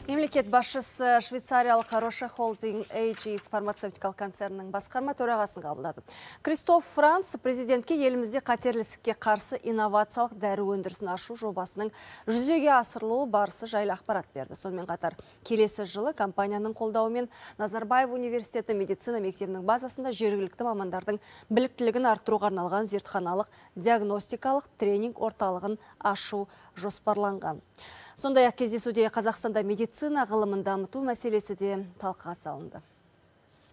Мемлекет басшысы Швейцариялық Роше Холдинг AG фармацевтикалық концернінің басқарма төрағасын қабылдады. Кристоф Франц президентке елімізде қатерлісікке қарсы инновациялық дәрі өндірісін ашу жобасының жүзеге асырылуы барысы жайлы ақпарат берді. Сонымен қатар келесі жылы компанияның қолдауымен Назарбаев университеті медицина мектебінің базасында жергілікті мамандардың біліктілігін арттыруға арналған зертханалық диагностикалық тренинг орталығын ашу жоспарланған. Сондай-ақ кездесуде Қазақстанда медицина ғылымын дамыту мәселесі де талқыға салынды.